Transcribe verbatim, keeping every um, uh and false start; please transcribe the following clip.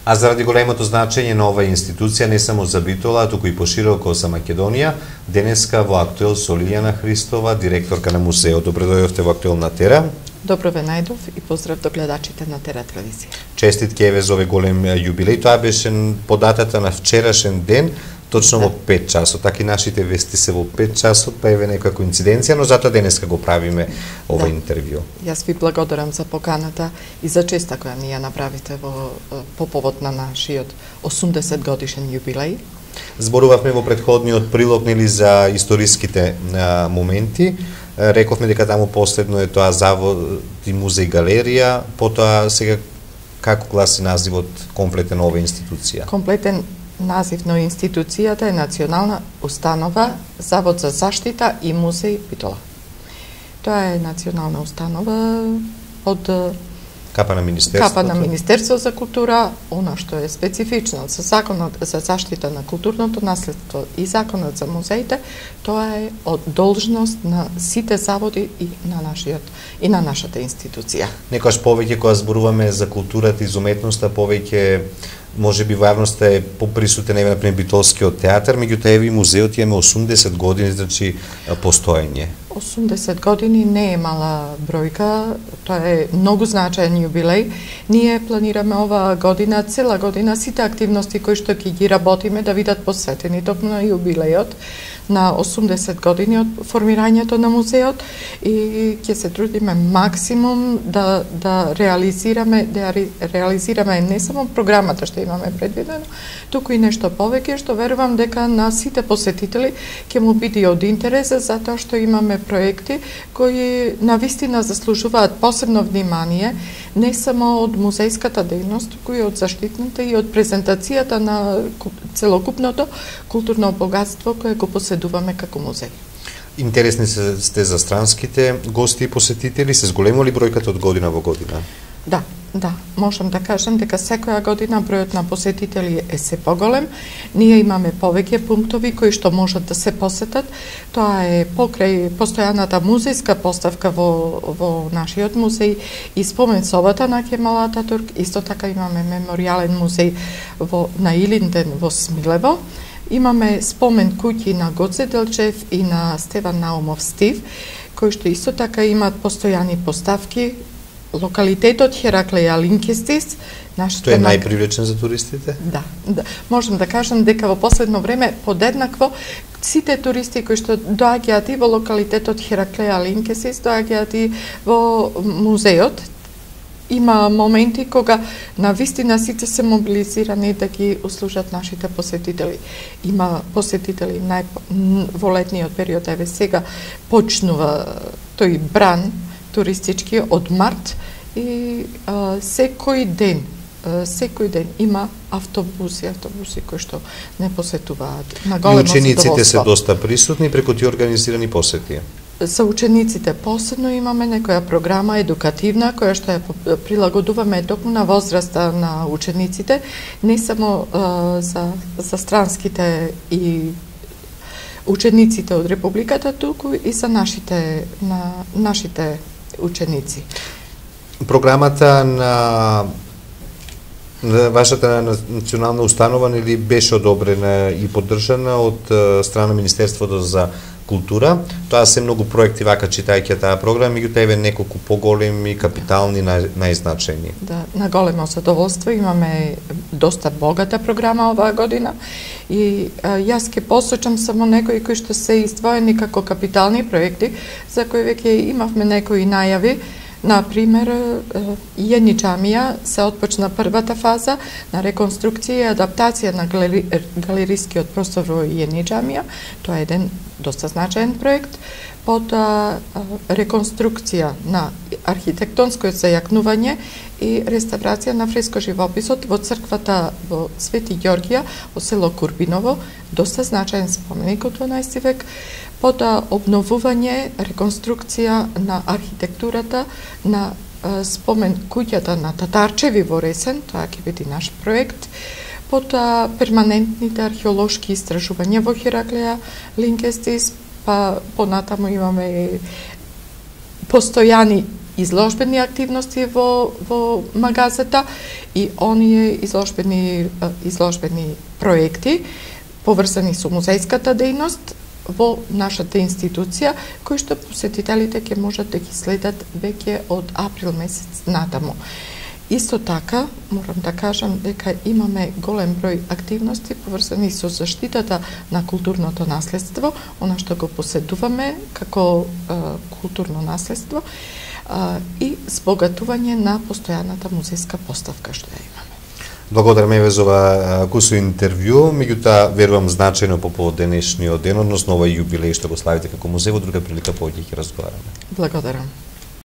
А заради големото значење на оваа институција не само за Битола, туку и пошироко за Македонија, денеска во Актуел со Лиљана Христова, директорка на музеот. Добре дојдовте во Актуел на Тера. Добро ве најдов и поздрав до гледачите на Тера телевизија. Честитки еве за овој голем јубилеј. Тоа беше по датата на вчерашен ден, точно да. Во пет часот. Така и нашите вести се во пет часот, па еве некоја коинциденција, но затоа денеска го правиме ова да. Интервју. Јас ви благодарам за поканата и за честа која ни ја направите во по повод на нашиот осумдесет годишен јубилеј. Зборувавме во претходниот прилог нели за историските а, моменти. Рековме дека таму последно е тоа завод и музеј галерија, потоа сега како гласи називот комплетен ова институција? Комплетен назив на институцијата е Национална установа Завод за заштита и музеј Битола. Тоа е национална установа од капа на Министерството. Капа на Министерство за култура, она што е специфично за Законот за заштита на културното наследство и Законот за музеите, тоа е од должност на сите заводи и на нашиот и на нашата институција. Некојаш повеќе кога зборуваме за културата и за уметноста, повеќе може би во јавноста е поприсутен еве например Битолскиот театар, меѓутоа еве и музеот има осумдесет години, значи постоење. осумдесет години не е мала бројка, тоа е многу значаен јубилеј. Ние планираме оваа година, цела година, сите активности кои што ќе ги работиме да бидат посветени токму на јубилејот на осумдесет години од формирањето на музеот и ќе се трудиме максимум да да реализираме да реализираме не само програмата што имаме предвидено, туку и нешто повеќе што верувам дека на сите посетители ќе му биде од интерес, затоа што имаме проекти кои навистина заслужуваат посебно внимание, не само од музејската дејност, туку и од заштитната и од презентацијата на целокупното културно богатство кое го поседуваме како музеј. Интересни сте за странските гости и посетители, се зголемува ли бројката од година во година? Да, да, можам да кажам дека секоја година бројот на посетители е се поголем. Ние имаме повеќе пунктови кои што можат да се посетат. Тоа е покрај постојаната музејска поставка во во нашиот музеј и спомен собата на Кемал Ататурк. Исто така имаме меморијален музеј во на Илинден во Смилево. Имаме спомен куќи на Гоце Делчев и на Стеван Наумов Стив, кои што исто така имаат постојани поставки. Локалитетот Хераклеја Линкестис, нашата Тој е најпривлечен за туристите? Да, да. Можам да кажам дека во последно време подеднакво сите туристи кои што доаѓаат и во локалитетот Хераклеја Линкестис, доаѓаат и во музеот. Има моменти кога на вистина сите се мобилизирани да ги услужат нашите посетители. Има посетители нај во летниот период, еве сега почнува тој бран туристички од март и а, секој ден, а, секој ден има автобуси, автобуси кои што не посетуваат. На големо задоволство. И учениците се доста присутни преку тие организирани посети. За учениците посебно имаме некоја програма едукативна која што ја прилагодуваме токму на возраста на учениците, не само а, за за странските и учениците од републиката, туку и за нашите на нашите ученици. Програмата на на вашата национална установа нели беше одобрена и поддржана од страна Министерството за култура. Тоа се многу проекти вака читајќи таа програма, меѓутоа еве неколку поголеми, капитални, најзначајни. Да, на големо задоволство имаме доста богата програма оваа година и а, јас ќе посочам само некои кои што се издвоени како капитални проекти, за кои веќе имавме некои најави. Например, Јени џамија се отпочна првата фаза на реконструкција и адаптација на галери, галерискиот простор во Јени џамија. Тоа е еден доста значаен проект. Потоа реконструкција на архитектонското зајакнување и реставрација на фреско-живописот во црквата во Свети Ѓоргија во село Курбиново, доста значаен споменик од дванаести век. Потоа обновување, реконструкција на архитектурата на спомен куќата на Татарчеви во Ресен, тоа ќе биде наш проект. Потоа перманентните археолошки истражувања во Хераклеја Линкестис, па понатаму имаме постојани изложбени активности во, во магазата и оние изложбени, изложбени проекти поврзани со музејската дејност во нашата институција, кои што посетителите ќе можат да ги следат веќе од април месец натаму. Исто така, морам да кажам дека имаме голем број активности поврзани со заштитата на културното наследство, она што го поседуваме како е, културно наследство, е, и збогатување на постојаната музејска поставка што ја имаме. Благодарам еве за ова кусо интервју, меѓутоа верувам значајно по повод денешниот ден, односно овој јубилеј што го славите како музеј, во друга прилика повеќе ќе разговараме. Благодарам.